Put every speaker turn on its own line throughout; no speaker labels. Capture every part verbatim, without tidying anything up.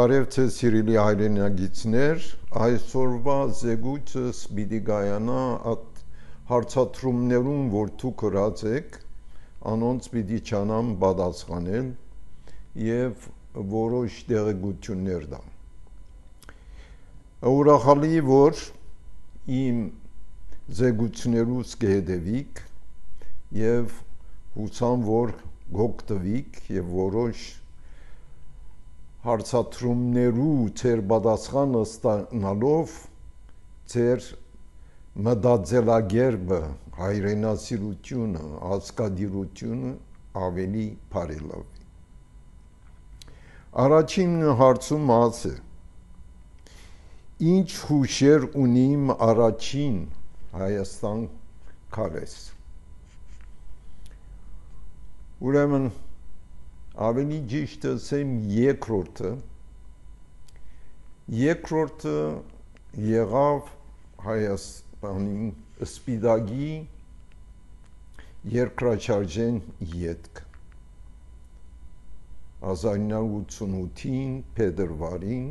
Բարև ձեզ սիրելի հայրենագիցներ, այսօրվա զեկույցս պիտի գայանա այդ հարցադրումներուն, որ դուք գրած եք, անոնց պիտի չանամ պատասխանել եւ որոշ տեղեկություններ տամ։ Ուրախալի որ իմ զեկույցներուց կհետևիք եւ հուսամ որ գոկտվիք եւ որոշ հարցադրումներու ձեր պատասխանը ստանալով ձեր մտածելակերպը, հայրենասիրությունը, ազգադիրությունը ավելի բարելավի։ Առաջին հարցում ասը. Ինչ հուշեր ունիմ առաջին Հայաստան քարես։ Ուրեմն ավելի ճիշտ ասեմ երկրորդը երկրորդը եղավ Հայաստանի Սպիտակի երկրաշարժեն ետք հազար ինը հարյուր ութսունութին փետրվարին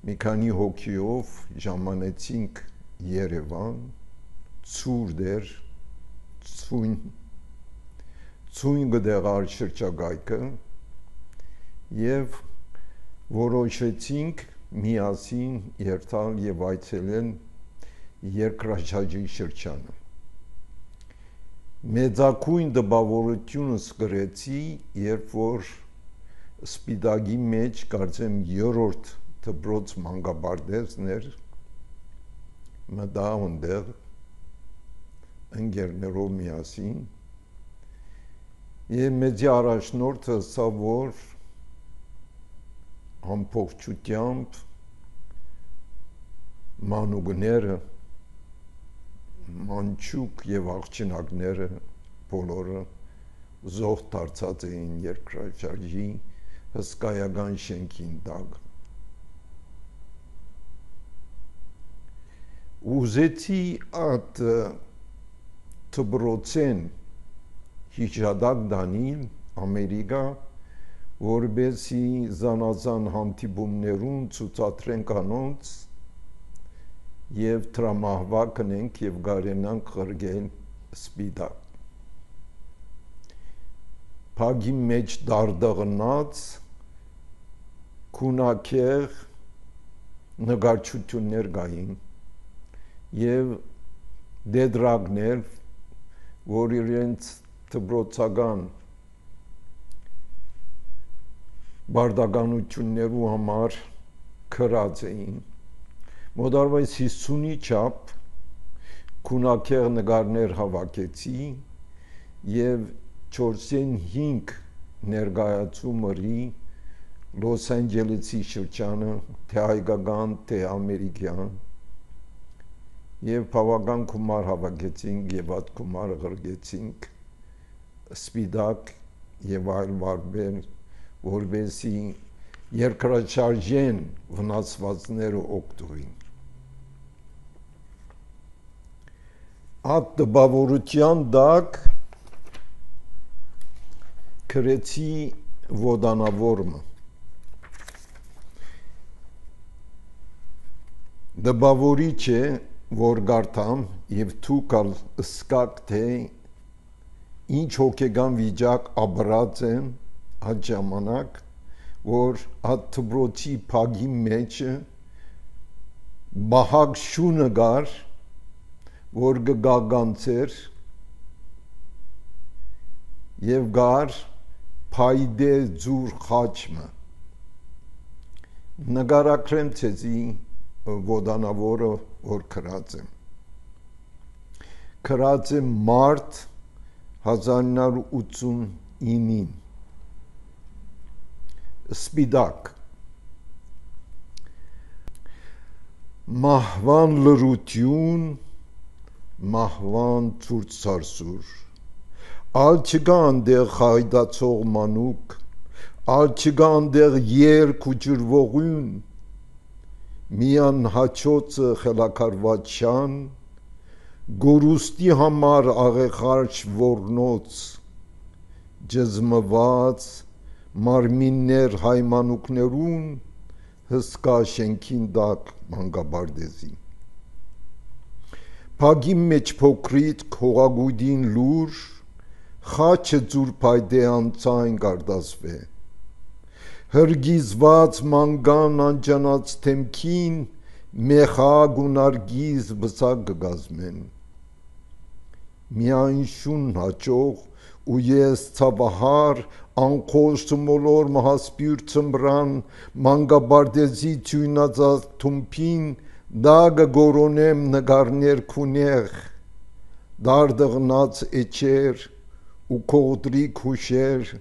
մի քանի հոգիով ժամանեցինք Երևան ցուրտ էր ցույն ցույն գդեղար շրջակայքը եւ որոշեցինք միասին երթալ եւ այցելել երկրաշարժի շրջանը մեծակույն դպավորությունս գրեցի երբ որ Սպիտակի մեջ կարծեմ երրորդ դպրոց մանկապարտեզներ մտա այնտեղ ընկերներով միասին եւ մեծի առաջնորդը սա որ ամբողջությամբ մանուկները մանչուկ եւ աղջնակները բոլորը զոհ դարձած էին երկրաշարժի հսկայական շենքին տակ ուզեցի այդ դպրոցեն հիշադակ դանիլ Ամերիկա որբեսի զանազան հանդիպումներուն ցուցադրենք անոնց եւ տրամահվակ կնենք եւ գարենանք ղրգել Սպիտակ Փագի մեջ դարդղնած քունակեղ նկարչություններ գային եւ դեդրագներ որ իրենց դպրոցական բարդականություններու համար քրած էին մոտարվայս հիսունի չափ քունակեղ նկարներ հավաքեցի եւ չորսեն հինգ ներկայացումների Լոս Անջելեսի շրջանը թե հայկական թե ամերիկյան եւ բավական գումար հավաքեցինք եւ այդ գումարը ղրգեցինք Սպիտակ եւ այլ վարպեր որբեսի երկրաշարժեն վնասվածները օգտվին այդ դպավորության դակ քրեցի ոդանավորմը դպավորիչ է որ գարտամ եւ թուկալ սկակ թե ինչ հոգեգան վիճակ ապրած են այդ ժամանակ որ այդ դպրոցի փագի մեջ բահակ շունը գար որ գգագանցեր եւ գար փայդե ձուր խաչմը նկարակրեմ ցեզի ոդանավորը որ քրած եմ քրած եմ մարտ հազար ինը հարյուր ութսունինին Սպիտակ մահվան լրություն մահվան ցուրտ սարսուր ալ չկա անդեղ հայդացող մանուկ ալ չկա անդեղ երկ ու ջրվողուն միան հաչոցը խելակարված շան գորուստի համար աղեղարչ որնոց ջզմված մարմիններ հայմանուկներուն հսկա շենքին դակ մանգաբարդեզի Փագի մեջ փոքրիտ քողագույդին լուր խաչը ձուր փայդե անցայն գարդասվե հրգիզված մանգան անջանած թեմքին մեխագ ու նարգիզ բսակ գգազմեն միայն շուն հաճող ու ես ցավահար անխոշ մոլոր մահասպյուր ծմբրան մանգաբարդեզի թյունածած թումփին դագը գորոնեմ նգարներ քունեղ դարդղնած էջեր ու կողդրի քուշեր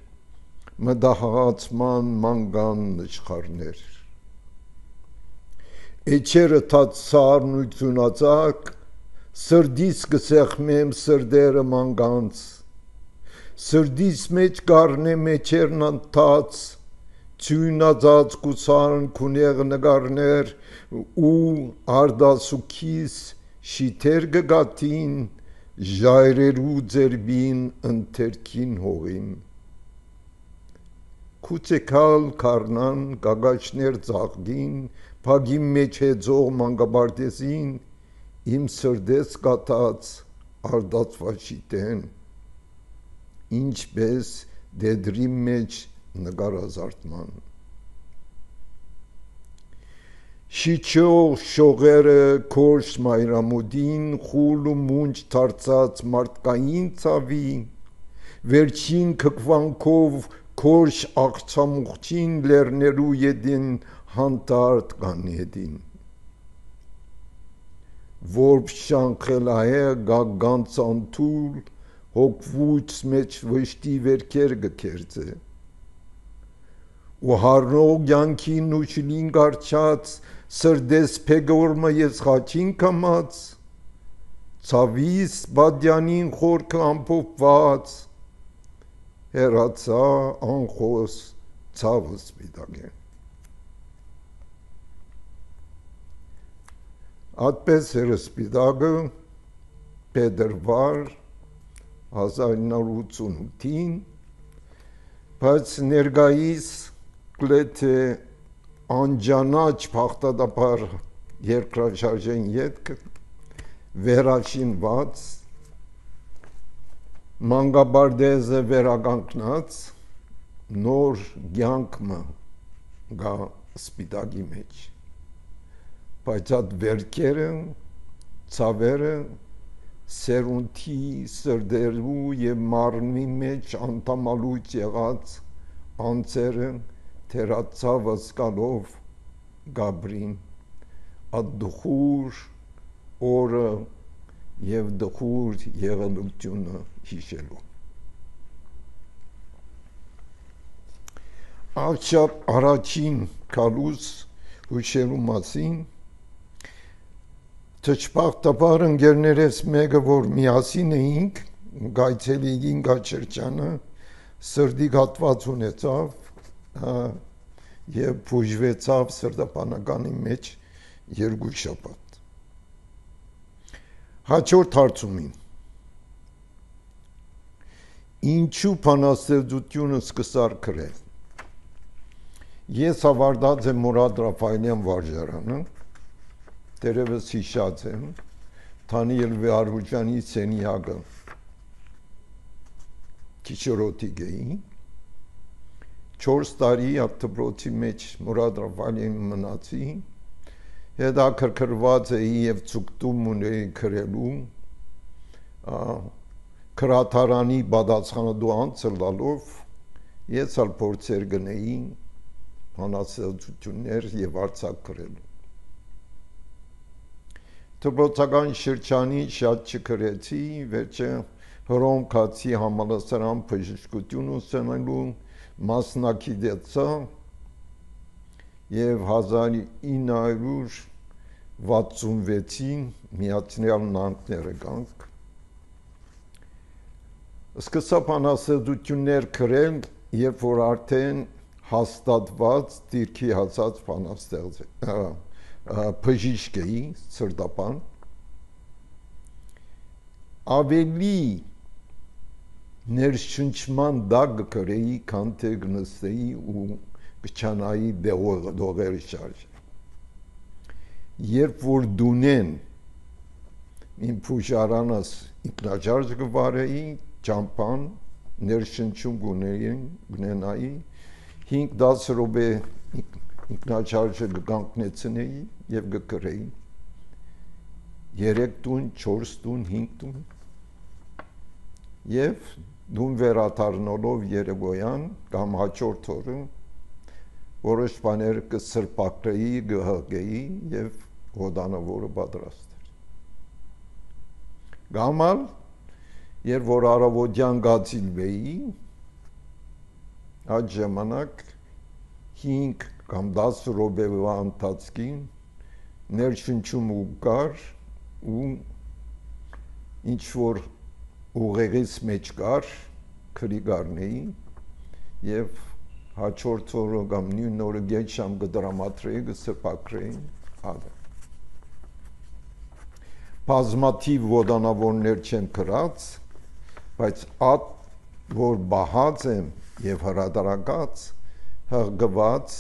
մդահացման մանգան նշխարներ էջերը թած սարն ու ծունածակ սրդիս կսեղմեմ սրդերը մանգանց սրդիս մեջ գարնեմ էջերն անթած ծյունածած կուսարն քունեղ նգարներ ու արդասուքիս շիթեր գգատին ժայրերու ձերբին ընթերքին հողին Քուցեկալ քարնան գագաշներ ծաղգին Փագի մեջ հեծող մանգաբարդեզին իմ սրդես կատած արդածվաշիտեն ինչպես դեդրի մեջ նգարազարդման Շիչող շողերը քորշ մայրամուդին խուլ ու մունջ թարծած մարդկային ցավի վերջին քկվանքով քորշ աղցամուղջին լեռներու յեդին հանտարտ կանեդին Որբ շանխելահե գագանց անթուլ հոգվուց մեջ վշտի վերքեր գքերձե ու հարնող յանքին ու շլին գարչած սրդես փեգորմը ես խաչին կամած ցավիս բադյանին խորքը ամփոփված հերացա անխոս ցավը սպիտակե Ատպես էր սպիտակը Փետրվար հազար իննսուն ութին բայց ներգայիս կլեթե անջանաչ փախտադապար երկրաշարժեն ետքը վերաշինված մանգաբարդեզը վերականգնած նոր կյանքը գա սպիտակի մեջ բայց այդ վերքերը ցավերը սերունթի սրդերու եւ մարմնի մեջ անտամալույց եղած անձերը թերացավ ասկալով գաբրին ադդխուր օրը եւ դխուր եղելությունը հիշելու Աղջապ առաջին կալուս հուշելու մասին Թճպախտապար ընկերներես մեկը, որ միասին էինք, գայցելիին գաչրջանը, սրդի գատված ունեցավ և պուժվեցավ սրդապանականի մեջ երկու շաբաթ։ Հաջորդ հարցումին Ինչու բանաստեղծությունը սկսար գրել։ Ես ավարտած եմ Մուրադ Ռաֆայելյան վարժարանը, Տերևս հիշած եմ, Թանիել Վեհարուջյանի սենյակը Քիչորոտի գեի, չորս տարի ատտպրոցի մեջ Մուրադ Ռաֆայելին մնացի, հետաքրքրված էի և ցուկտում ունեի գրելու, քրաթարանի բադացխանադու անձը լալով, ես ալ փորձեր գնեի, բանաստեղծություններ և արձակ գրելու։ Դպրոցական շրջանի շատ չգրեցի, վերջը Հռոմ Քացի համալսարան բժշկություն ուսանելու մասնակցեցա և հազար ինը հարյուր վաթսունվեցին Միացյալ Նահանգները գանք։ Սկսա բանաստեղծություններ գրել, երբ որ արդեն հաստատված դիրքի հասած բանաստեղծ բժիշկ էի, սրտապան, ավելի ներշնչման դակ կրեի կանթե գնստեի ու կչանայի դողերը շարժ երբ որ դունեն իմ փուժարանս ինքնաճարժ գվարեի ճամփան ներշնչում գունենայի հինգ դասը րոպե ինքնաճարժը կգանքնեցնեի եւ կկրեի երեք տուն, չորս տուն, հինգ տուն եւ դուն վերադառնալով երեկոյան կամ հաջորդ օրը որոշ բաներ կսրբակրեի, կհղկեի եւ հոդանավորը պատրաստ էր։ Գամալ երբ որ առավոտյան գացիլվեի այդ ժամանակ հինգ կամ դասը րոպեվա ընթացքին ներշնչում ու կար ու ինչ որ ուղեղից մեջ կար քրի գարնեի եւ հաջորդ օրը կամ նույն օրը գետ շամ կդրամատրեի կսրբակրեի ադը բազմաթիվ ոդանավորներ չեմ կրած բայց այդ որ բահած եմ եւ հրադարակած հղկված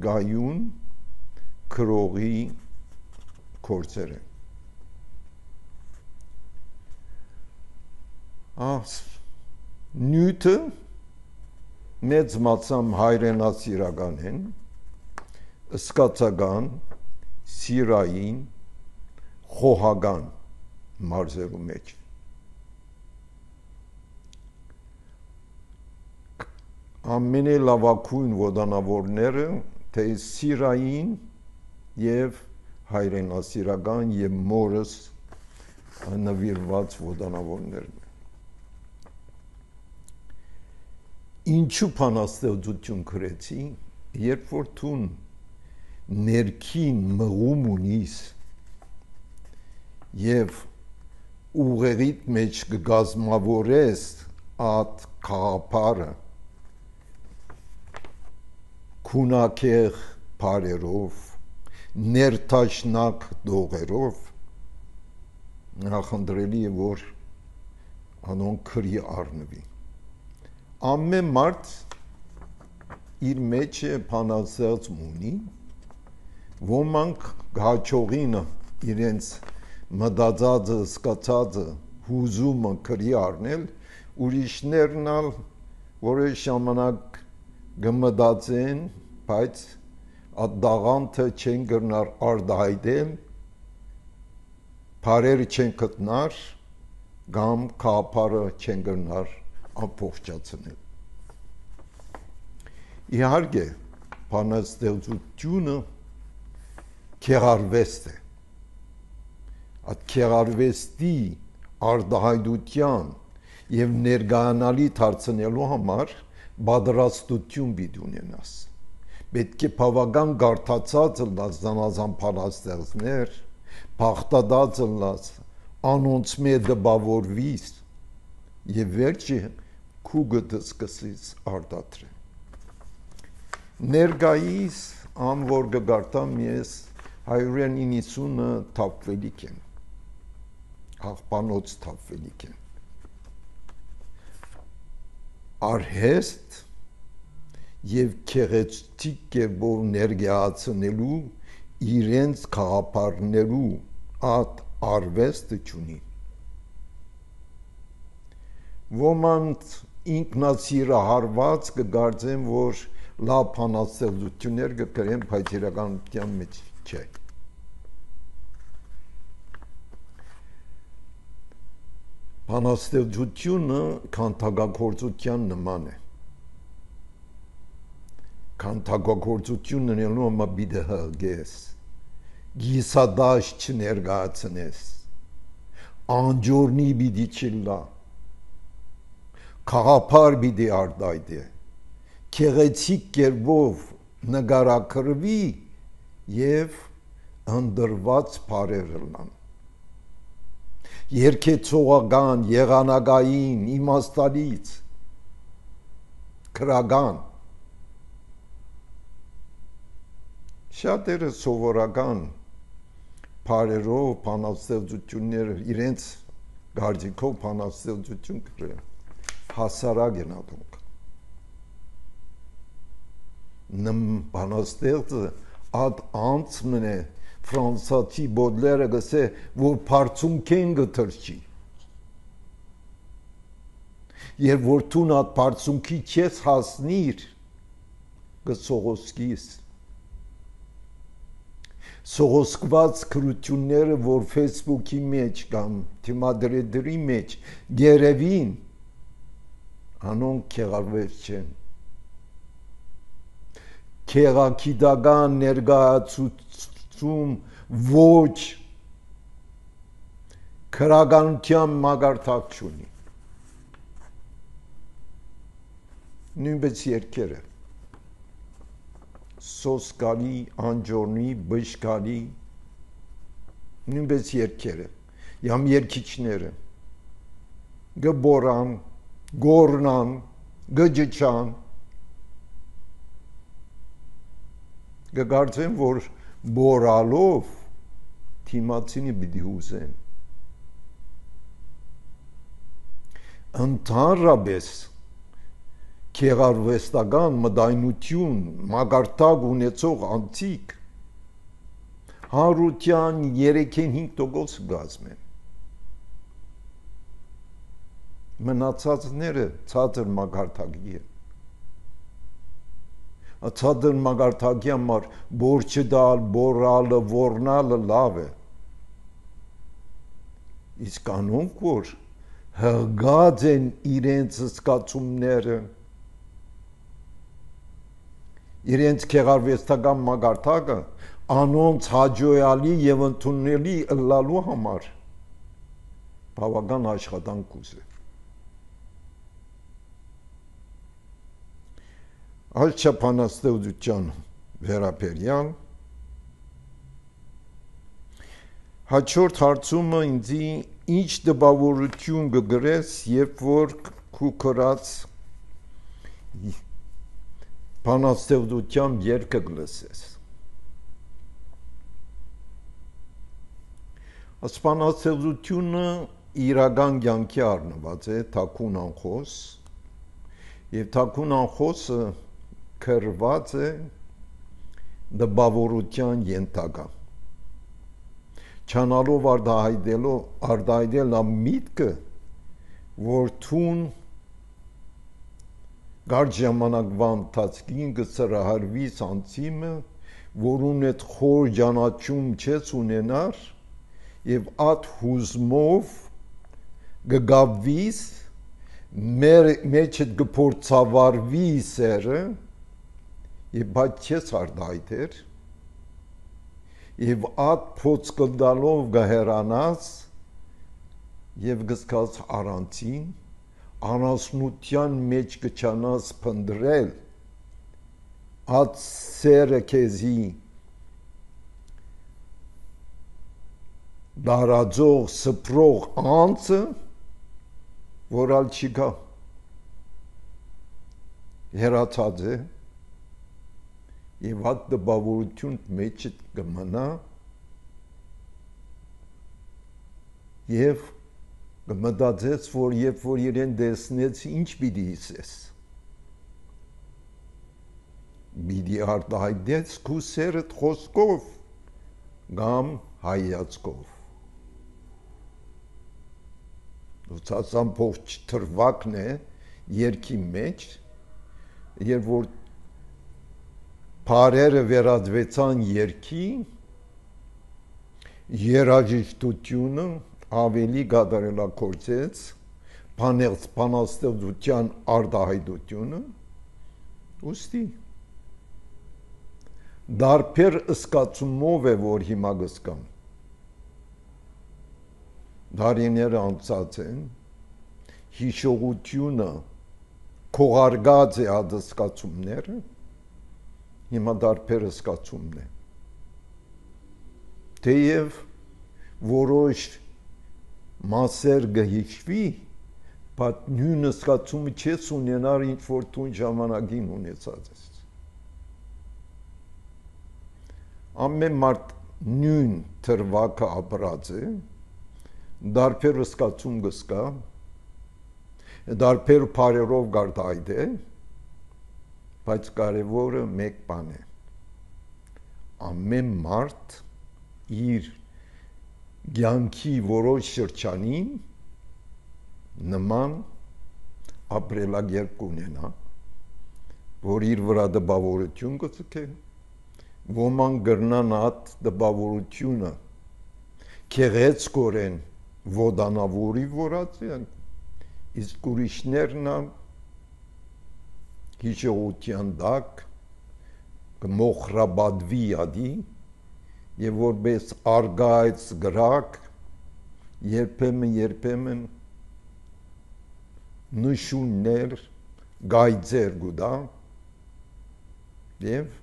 գայուն քրողի կորցեր եմ Ահ նյութը մեծ մացամ հայրենասիրական են սկացական սիրային խոհական մարզերու մեջ ամենալավակույն ոդանավորները թե սիրային եւ հայրենասիրական եւ մորս նվիրված ոդանավորներն Ինչու փանաստեղծություն գրեցի, երբ որ տուն ներքին մղում ունիս եւ ուղերիդ մեջ կգազմավորես այդ խաղապարը քունակեղ բարերով ներտաշնակ դողերով նախնդրելի է որ անոն քրի առնվի ամեն մարդ իր մեջ է փանաստեղծ ունի ոմանք գաչողինը իրենց մտածածը սկացածը հուզումը քրի առնել ուրիշներն ալ որոշ ժամանակ գմտածեն բայց այդ դաղանթը չեն գրնար արդահայտել բարերը չեն գտնար կամ քապարը չեն գրնար ամփոփչացնել իհարկե բանաստեղծությունը քերարվեստ է այդ քերարվեստի արդահայտության եւ ներգանալի դարձնելու համար պատրաստություն պիտի ունենաս պետք է բավական գարտացած լաս զանազան բանաստեղծներ բախտադած լաս անոնց մեջ դպավորվիս եւ վերջի քուգը սկսից արդատրեն ներգայիս ամ որ գարտամ ես հայրեն իննիսունը թափվելիք են աղբանոց թափվելիք են արհեստ եւ քեղեցիկ կերպով ներգայացնելու իրենց խաղապարներու այդ արվեստը չունի ոմանց ինքնասիրահարված կգարձեն որ լավ բանաստեղծություններ կգրեն բայց իրականության մեջ չէ բանաստեղծությունը քանթագործության նման է քանթագործությունը նելու համար պիտի հղկես գիսադաշ չներկայացնես անջորնի պիտի չլա խաղապար պիտի արդայտե քեղեցիկ կերպով նկարագրվի եւ ընդրված բարեր լան երկեցողական եղանակային իմաստալից քրական շատերը սովորական բարերով բանաստեղծություններ իրենց գարձիկով բանաստեղծություն գրեն հասարակ են ադոնք նմ բանաստեղծը ад անց մնե ֆրանսացի Բոդլերը գսե որ բարձում կեն գտրչի եւ որ տուն ад բարձումքի չես հասնիր գսողոսկիս սողոսկված քրությունները որ Facebook-ի մեջ կամ թիմադրերի մեջ գերևին անոնք քեղարվեց չեն քեղակիդական ներգացում ոչ քրագանության մագարտակ չունի նույնպես երկերը սոսկալի, անջորնի, բժկալի նույնպես երկերը յամ երկիչները գբորան, գորնան, գջչան գգարձեն, որ բորալով թիմացինի պիտի ուզեն ընդհանրապես քեղարվեստական մտայնություն մագարտակ ունեցող անցիկ հարության երեքին հինգ տոկոս գազմեն մնացածները ցածր մագարտակի են ցածր մագարտակի համար բորչը դալ, բորալը, որնալը լավ է իսկ անոնք որ հղգած են իրենց զգացումները իրենց քեղարվեստական մագարտակը անոնց հաջողալի եւ ընդունելի ըլլալու համար բավական աշխատանք ուզե այս չափանաստեղծության վերաբերյալ հաջորդ հարցումը ինձ ինչ տպավորություն կգրես երբ որ քու կրած բանաստեղծությամբ երգը կլսես այս բանաստեղծությունը իրական կյանքի առնված է թաքուն անխոս եւ թաքուն անխոսը քրված է դպավորության ենթակա չանալով արդահայտելով արդահայտել միտքը որ թուն գար ժամանակվա ընթացքին կսրահարվի անցիմը որուն այդ խոր ճանաչում չես ունենար եւ ատ հուզմով գգավվիս մեր մեջդ գփորձավարվի սերը եւ բայց չես արդայտեր եւ ատ փոցկդալով գահերանաս եւ գսկած առանցին անասնության մեջ կչանաս փնդրել ատ սերը քեզի դարաձող սփրող անցը որալ չկա հերացած է եւ հատ դպավորություն մեջ կմնա եւ կմտածես որ երբ որ իրեն դեսնեց ինչ պիտի իսես պիտի արտահայտես քու սերդ խոսքով կամ հայացքով ուսացան փոխ թրվակն է երկի մեջ երբ որ Փարերը վերածվեցան երկի երաժշտությունը ավելի գադարելակործեց բանաստեղծության արդահայտությունը ուստի դարբեր ըսկացումով է որ հիմա գսկամ դարիները անցած են հիշողությունը քողարկած է ադսկացումները հիմա դարբեր ըսկացումն է թեև որոշ մասեր գհիշվի բայց նույն ըսկացումը չես ունենար ինչ որ տուն ժամանակին ունեցած ես ամեն մարդ նույն թրվակը ապրած է դարբեր ըսկացում գսկա Դարբեր բարերով գարդ այդ է, բայց կարևորը մեկ բան է։ Ամեն մարդ իր կյանքի որոշ շրջանին նման ապրելակերպ կունենա, որ իր վրա դպավորություն կցկե, ոման գրնան այդ դպավորությունը քեղեցկորեն ոդանավորի որացին, իսկ ուրիշներն հիշողության տակ կմոխրաբադվի ադի եւ որպես արգայց գրակ երբեմն երբեմն նշուններ գայձեր գուտա եւ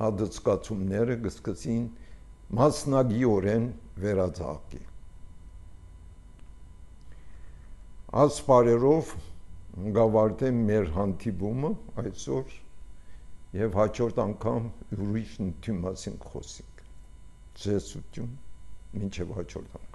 ադծկացումները կսկսին մասնագիորեն վերածաղկի։ Ասպարերով գավարտեմ մեր հանդիպումը այսօր եւ հաջորդ անգամ ուրիշ նյութի մասին խոսենք։ Ձեզ ողջույն, մինչեւ հաջորդ անգամ։